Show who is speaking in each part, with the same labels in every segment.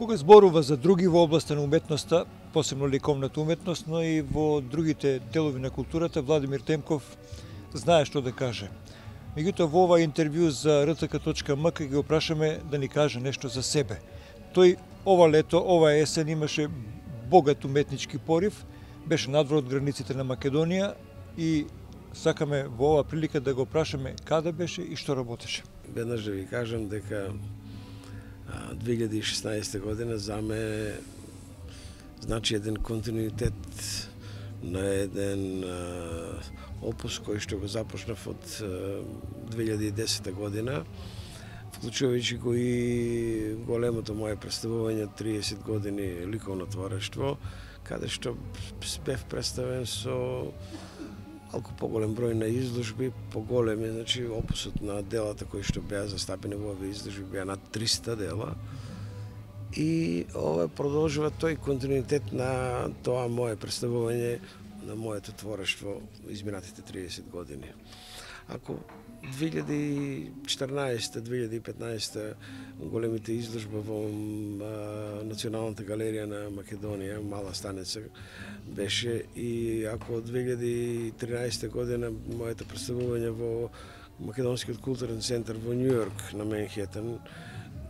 Speaker 1: Кога зборува за други во областа на уметноста, посебно ликовната уметност, но и во другите делови на културата, Владимир Темков знае што да каже. Меѓутоа, во ова интервју за rtk.mk ги опрашаме да ни каже нешто за себе. Тој ова лето, ова есен имаше богат уметнички порив, беше надвор од границите на Македонија и сакаме во ова прилика да го прашаме каде беше и што работеше.
Speaker 2: Веднаш да ви кажам дека 2016 година за ме значи еден континуитет на еден опус кој што го започнав од 2010 година, вклучувајќи го и големото мое представување 30 години ликовно творештво, каде што бев представен со малку поголем број на изложби, поголеми, значи опусот на делата кои што беа застапени во овие изложби беа над 300 дела. И ова продолжува тој континуитет на тоа мое представување на моето творештво изминатите 30 години. Ако 2014-2015 големите изложба во Националната галерија на Македонија, Мала станица беше, и ако 2013 година моето представување во Македонскиот културен центар во Њујорк на Менхетен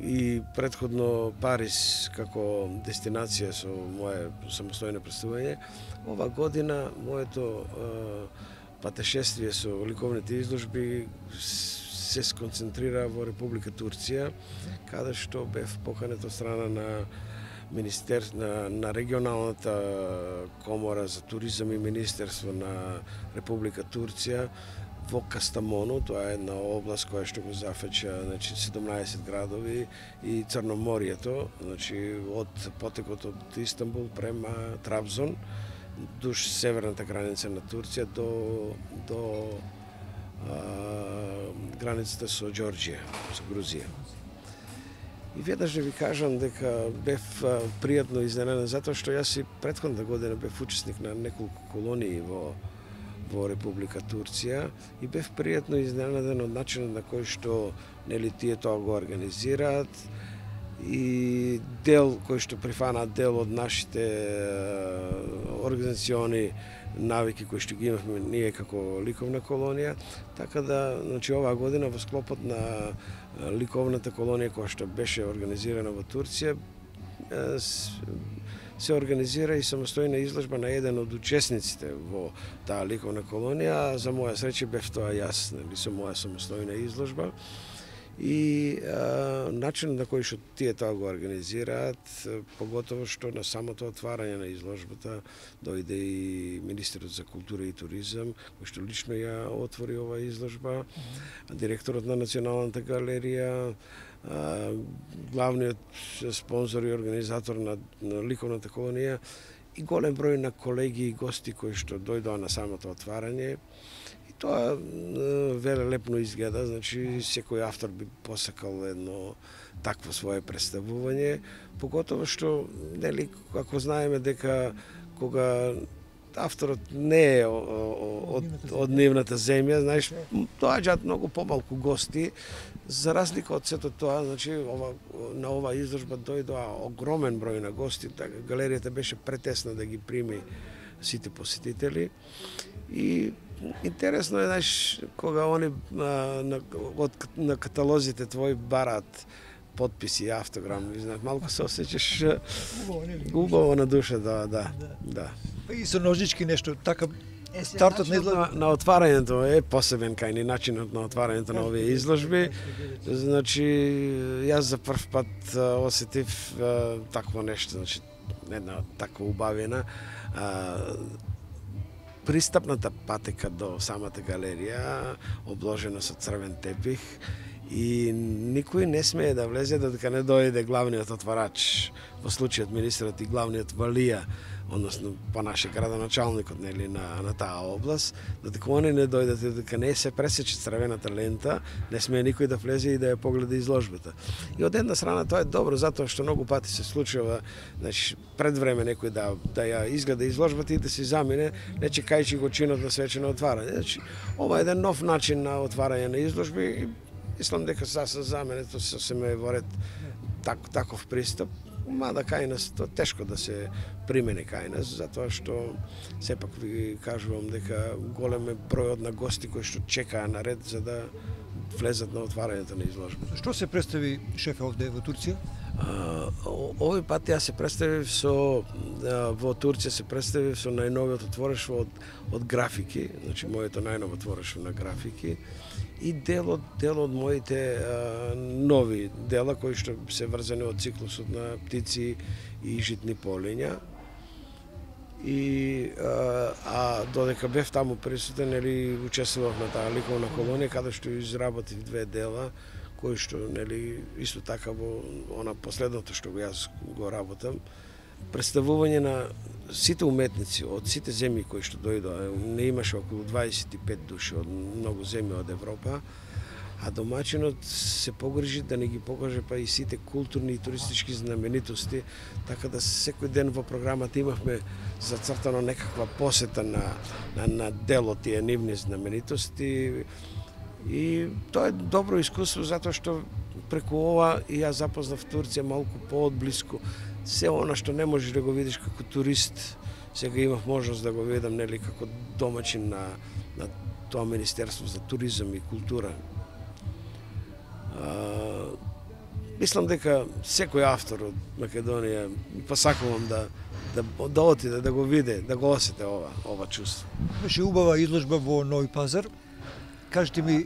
Speaker 2: и предходно Париз како дестинација со мое самостојно представување, ова година моето патешествие со ликовните изложби се сконцентрира во Република Турција, каде што бев поканет од страна на на регионалната комора за туризам и министерство на Република Турција во Кастамону. Тоа е една област која што го зафаќа, значи 17 градови и Црноморието, значи од потекот од Истанбул према Трабзон, дуж северната граница на Турција до границата со Ѓорџија, со Грузија. И веднаш да ви кажам дека бев пријатно изненаден затоа што јас и претходната година бев учесник на неколку колонии во Република Турција и бев пријатно изненаден од начинот на кој што нели тие тоа го организираат и дел кој што прифанаат дел од нашите организациони навики кои што ги имавме ние како ликовна колонија, така да, значи оваа година во склопот на ликовната колонија која што беше организирана во Турција се организира и самостојна изложба на еден од учесниците во таа ликовна колонија, за моја среќа бев тоа јас, нели, со моја самостојна изложба. И начинот на кој што тие тоа го организираат, поготово што на самото отварање на изложбата дојде и министерот за култура и туризам, кој што лично ја отвори оваа изложба, директорот на Националната галерија, главниот спонзор и организатор на ликовната колонија и голем број на колеги и гости кои што дојдоа на самото отварање. Тоа велелепно изгледа, значи секој автор би посакал едно такво свое представување, поготово што, нели, ако знаеме дека кога авторот не е од нивната земја, знаеш, доаѓаат многу помалку гости, за разлика од сето тоа, значи на оваа изложба дојдоа огромен број на гости, така галеријата беше претесна да ги прими сите посетители и интересно е, знаеш, кога они на каталозите твои бараат подписи и автограм, знаеш, малку се осеќаш убаво на душа, да.
Speaker 1: И со ножички нешто, така стартот на изложба
Speaker 2: на отварањето е посебен кај ни начинот на отварањето на овие изложби. Значи, јас за прв пат осетив такво нешто, значи една таква убавина. Пристапната патека до самата галерија, обложена со црвен тепих, и никој не смее да влезе додека не дојде главниот отварач, во случајот министерот и главниот валија, односно по наше градоначалникот, нели, на таа област, додека они не дојдат, додека не се пресече црвената лента, не смее никој да влезе и да ја погледа изложбата. И од една страна тоа е добро, затоа што многу пати се случува, значи, пред време некој да ја изгледа изложбата и да се замине, не чекајќи го чинот на свечено отварање. Значи, ова е еден нов начин на отварање на изложби и мислам дека за мене тоа сосема е во ред таков пристап. Мада кај нас тоа тешко да се примени кај нас, затоа што сепак ви кажувам дека голем е бројот на гости кои што чекаа на ред за да влезат на отварањето на изложбата.
Speaker 1: Што се представи шефе овде во Турција?
Speaker 2: Овој пат јас се представив во Турција се представив со најновиот отворештво од графики, значи моето најново отворештво на графики и дел од моите нови дела кои што се врзани од циклусот на птици и житни полиња. И додека бев таму присутен, нели учествував на таа ликовна колонија каде што изработив 2 дела кои што нели исто така во она последното што јас го работам, представување на сите уметници од сите земји кои што дојдоа. Не имаше околу 25 души од многу земји од Европа, а домачинот се погрижи да не ги покаже па и сите културни и туристички знаменитости, така да секој ден во програмата имавме зацртано некаква посета на дел од тие нивни знаменитости. И тоа е добро искуство затоа што преку ова и јас запознав Турција малку поодблиску. Се она што не можеш да го видиш како турист, сега имав можност да го видам нели како домачин на тоа Министерство за туризам и култура. Мислам дека секој автор од Македонија посакувам да отиде, да го види, да го осете ова чувство.
Speaker 1: Беше убава изложба во Нови Пазар. Кажете ми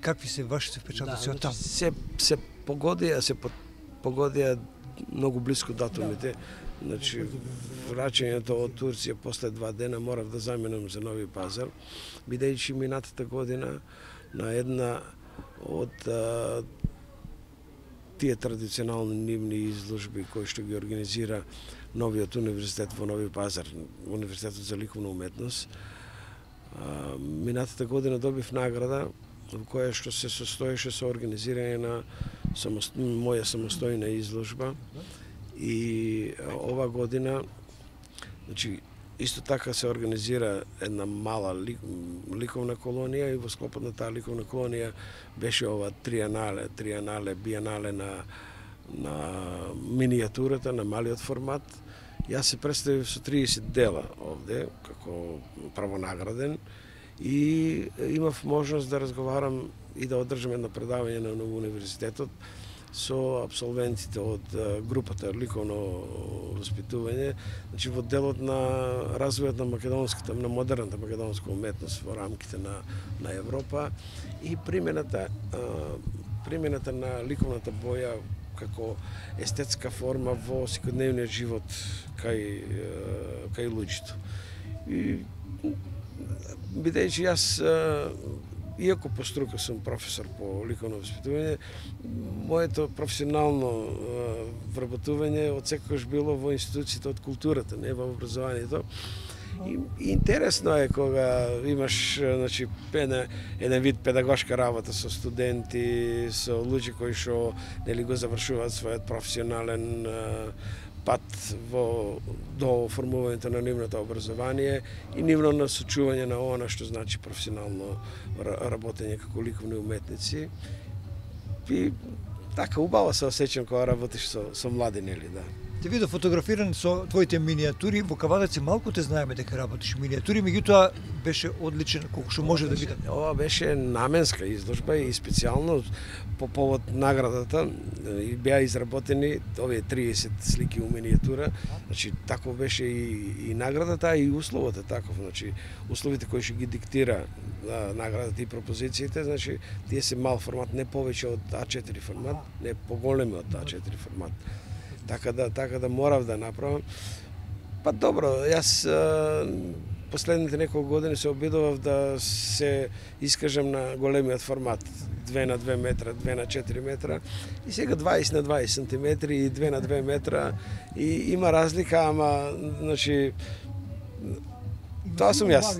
Speaker 1: какви се вашите впечатоци од таму?
Speaker 2: Се погодија многу близко датумите. Значи, враќањето од Турција после 2 дена морав да заминам за Нови Пазар, бидејќи минатата година на една од тие традиционални нивни изложби кои што ги организира новиот универзитет во Нови Пазар, Универзитетот за ликовна уметност. Минатата година добив награда во која што се состоеше со организирање на моја самостојна изложба и ова година, значи, исто така се организира една мала ликовна колонија и во склопот на таа ликовна колонија беше ова биенале на минијатурата, на малиот формат. Јас се представив со 30 дела овде, како правонаграден, и имав можност да разговарам и да одржам едно предавање на универзитетот со абсолвентите од групата ликовно воспитување, значи во делот на развојот на модерната македонска уметност во рамките на Европа и примената на ликовната боја како естетска форма во секојдневниот живот кај луѓето. И бидејќи јас иако по струка сум професор по ликовно воспитување, моето професионално вработување одсекогаш било во институциите од културата, не во образованието. И интересно е кога имаш, значи, еден вид педагошка работа со студенти, со луѓе кои што нели го завршуваат својот професионален пат до формувањето на нивното образование и нивно насочување на она што значи професионално работење како ликовни уметници. И така убаво се осеќам кога работиш со млади, нели, да.
Speaker 1: Те видов фотографиран со твоите минијатури, во Кавадаци малку те знаеме дека работиш минијатури, меѓутоа беше одличен колку што може да биде.
Speaker 2: Ова беше наменска изложба и специјално по повод наградата беа изработени овие 30 слики у минијатура. Значи таков беше и наградата, и условот е таков, значи условите кои ќе ги диктира наградата и пропозициите, значи тие се мал формат, не повеќе од А4 формат, не поголеми од А4 формат. Така да морав да направам. Па добро, јас последните неколку години се обидував да се искажам на големиот формат, 2 на 2 метра, 2 на 4 метра, и сега 20 на 20 сантиметри и 2 на 2 метра, и има разлика, ама, значи, тоа сум јас.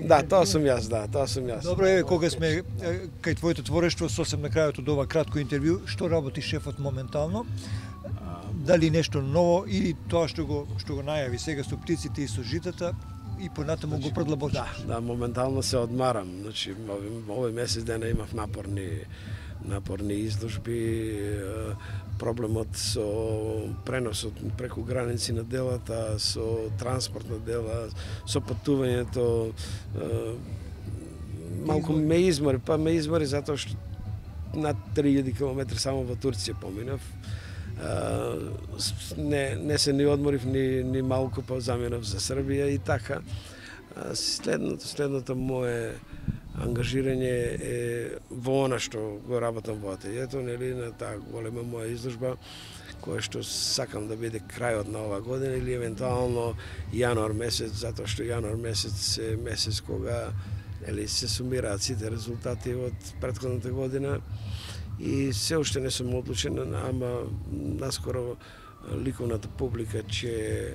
Speaker 1: Добро, еве, кога сме кај твоето творештво, сосем на крајот од ова кратко интервју, што работи шефот моментално? дали нешто ново или тоа што го најави сега со птиците и со житата и понатаму го продлабочи.
Speaker 2: Да, моментално се одмарам. Значи, овој месец дена имав напорни изложби, проблемот со преносот преку граници на делата, со транспорт на дела, со патувањето, малку ме измори затоа што над 3000 км само во Турција поминав. Не се ни одморив ни малку, па заминав за Србија и така. Следното мое ангажирање е во она што го работам во ателието, нели, на таа голема моја изложба, која што сакам да биде крајот на оваа година или евентуално јануар месец, затоа што јануар месец е месец кога се сумираат сите резултати од претходната година и се уште не сум одлучен, ама наскоро ликовната публика ќе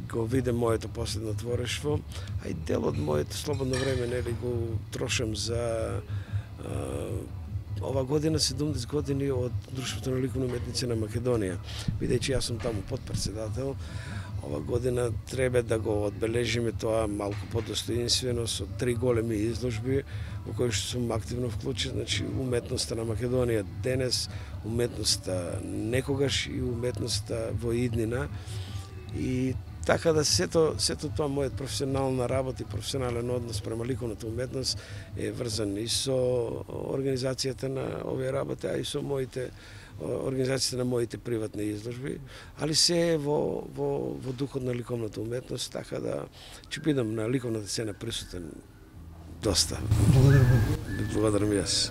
Speaker 2: го виде моето последно творештво, а и дел од моето слободно време нели го трошам за ова година 70 години од Друштвото на ликовни уметници на Македонија. Бидејќи јас сум таму подпредседател, ова година треба да го одбележиме тоа малку подостоинствено со 3 големи изложби во кои што сум активно вклучен, значи уметноста на Македонија денес, уметноста некогаш и уметноста во иднина. И така да сето тоа мојот професионална работа и професионален однос према ликовната уметност е врзан и со организацијата на овие работи, а и со организацијата на моите приватни изложби, али се е во духот на ликовната уметност, така да ќе бидам на ликовната сцена присутен доста.
Speaker 1: Благодарам.
Speaker 2: Благодарам јас.